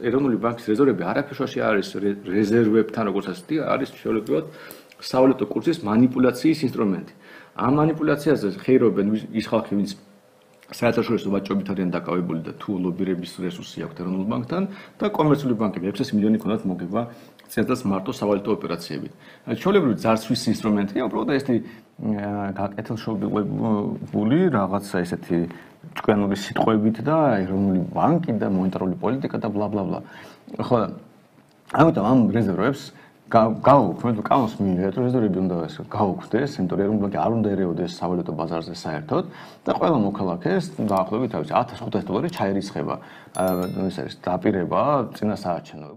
ეროვნული ბანკის რეზერვები არაფერშუაში არის რეზერვებთან, როგორც ასეთი, არის შეუძლებლად სავალუტო კურსის манипуляციის ინსტრუმენტი. ამ манипуляციაზე ხეირობენ ის ხალხი, ვინც საერთაშორისო ვაჭრობით არიან დაკავებული და თუ ლობირების რესურსი აქვთ ეროვნულ ბანკთან და კომერციული ბანკები 600 მილიონი ქონდათ მოგება ცენტრალს მარტო სავალუტო ოპერაციებით. ჩვეულებრივი ძარცვის ინსტრუმენტია, უბრალოდ ესეთი გაკეთილშობილებული რაღაცა ესეთი ჭკვიანური სიტყვებით და ეროვნული ბანკი და მონეტარული პოლიტიკა და ბლა ბლა ბლა. ხო, ამიტომ ამ რეზერვებს გავუქმებთ, კანონს მიიღეთ, რეზერვები უნდა გავუქმდეს, იმიტომ რომ ეროვნული ბანკი არ უნდა ერეოდეს სავალუტო ბაზარზე საერთოდ და ყველა მოქალაქეს დაახლოებით $1500 ჩაირიცხება, ეს არის დაპირება წინა საარჩევნო